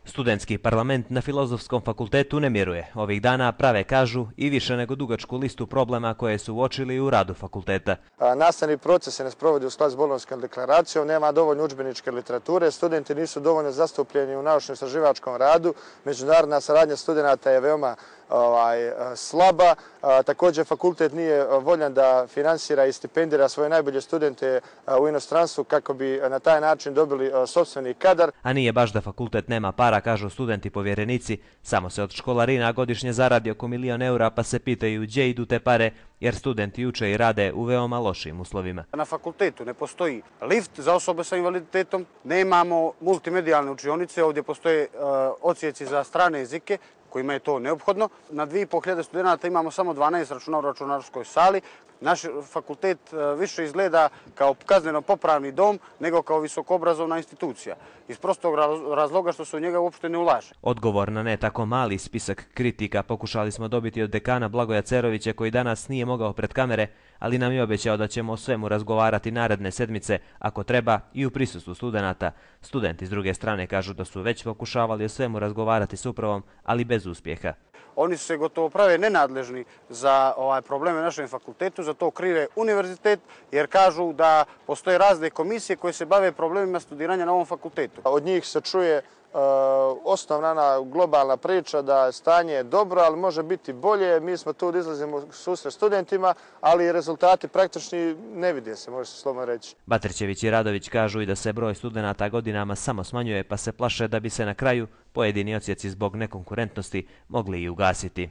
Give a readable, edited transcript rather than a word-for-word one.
Studentski parlament na Filozofskom fakultetu ne miruje. Ovih dana prave, kažu, i više nego dugačku listu problema koje su uočili u radu fakulteta. Nastavni proces se ne sprovodi u skladu s Bolonjskom deklaracijom, nema dovoljno udžbeničke literature, studenti nisu dovoljno zastupljeni u naučno-istraživačkom radu, međunarodna saradnja studenata je veoma slaba. Također fakultet nije voljan da finansira i stipendira svoje najbolje studente u inostranstvu kako bi na taj način dobili sopstveni kadar. A nije baš da fakultet nema para, kažu studenti povjerenici. Samo se od školarina godišnje zaradi oko 1 milion eura, pa se pitaju gdje idu te pare, jer studenti uče i rade u veoma lošim uslovima. Na fakultetu ne postoji lift za osobe sa invaliditetom, nemamo multimedijalne učionice, ovdje postoje odsjeci za strane jezike kojima je to neophodno. Na 2500 studenta imamo samo 12 računa u računarskoj sali. Naš fakultet više izgleda kao kazneno-popravni dom nego kao visokoobrazovna institucija. Iz prostog razloga što se u njega uopšte ne ulaže. Odgovor na ne tako mali spisak kritika pokušali smo dobiti od dekana Blagoja Cerovića, koji danas nije mogao pred kamere, ali nam je obećao da ćemo o svemu razgovarati naredne sedmice, ako treba i u prisustvu studenata. Studenti s druge strane kažu da su već pokušavali o svemu razgovarati s upravom, ali bez uspjeha. Oni se gotovo prave nenadležni za probleme na našem fakultetu, za to krive univerzitet, jer kažu da postoje razne komisije koje se bave problemima studiranja na ovom fakultetu. Od njih se čuje osnovna globalna priča da stanje je dobro, ali može biti bolje. Mi smo tu da izlazimo u susret studentima, ali rezultati praktični ne vide se, može se slobodno reći. Batrićević i Radović kažu i da se broj studenata godinama samo smanjuje, pa se plaše da bi se na kraju pojedini odsjeci zbog nekonkurentnosti mogli i ugasiti.